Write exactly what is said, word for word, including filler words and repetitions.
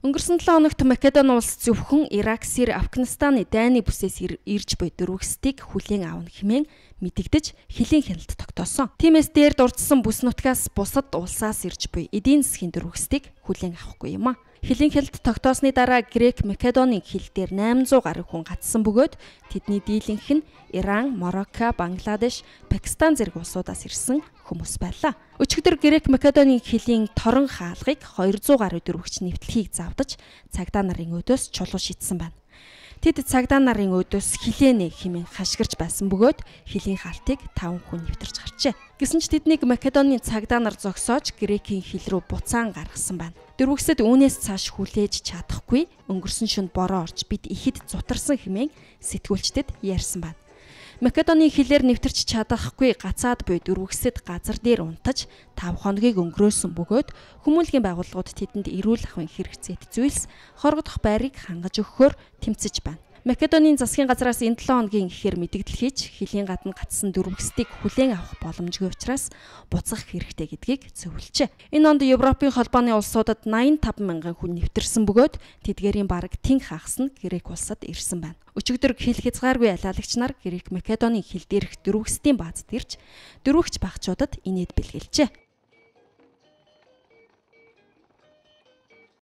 Өнгөрсөн долоо хоногт Македони улс зөвхөн Ирак, Сирь, Афганистаны дайны бүсээс ирж буй дөрвөсдгийг хүлээн авна хэмээн мэдэгдэж хилийн хяналт тогтоосон. Тиймээс дээр дурдсан бүс нутгаас бусад улсаас ирж буй эдийн засгийн дөрвөсдгийг хүлээн авахгүй юм а. Хилийн хяналт тогтоосны дараа Грек, Македонийн хил дээр найман зуун гаруй хүн гатсан бөгөөд тэдний дийлэнх нь Иран, Марокко, Бангладеш, Пакистан зэрэг улсуудаас ирсэн хүмүүс байлаа. Өчигдөр Грек, Македонийн хилийн торон хаалгыг хоёр зуун гаруй дөрвөгч нэвтлэхийг завдаж цагдаа нарын өдөөс чулуу шидсэн байна. Тэд цагдаа нарын өдөөс хилэнэ хэмээн хашгирч байсан бөгөөд хилийн хаалтыг таван хүн нэвтэрч гарчээ. Гэсэн ч тэднийг Македонийн цагдаа нар зогсоож Грекийн хил рүү буцаан гаргасан байна. Дөрвөгсөд үүнээс цааш хүлээж чадахгүй өнгөрсөн шөнө бороо орж бид ихэд зутарсан хэмээн сэтгүүлчдэд ярьсан байна. Македонийн хилээр нэвтэрч чадахгүй гацаад буй дөрвөгсөд газар дээр унтаж тав хоногийг өнгөрөөсөн бөгөөд хүмүүнлэгийн байгууллагууд тэдэнд эрүүл ахуйн хэрэгцээт зүйлс хоргодох байрыг хангаж өгөхөөр тэмцэж байна. Македонийн засгийн газраас энэ долоо хоногийн ихээр мэдэгдэл хийж хилийн гадна гатсан дөрвөгсдийг хүлээн авах боломжгүй учраас буцах хэрэгтэй гэдгийг зөвлөжээ. Энэ онд Европын холбооны улсуудад найман таван мянган хүн нэвтэрсэн бөгөөд тэдгээрийн бараг тэнх хагас нь Грек улсад ирсэн байна. Өчигдөр хил хязгааргүй ялаалагч нар Грек, Македонийн хил дээрх дөрвөгсдийн баазд ирж дөрвөгч багчуудад инээд бэлгэлжээ.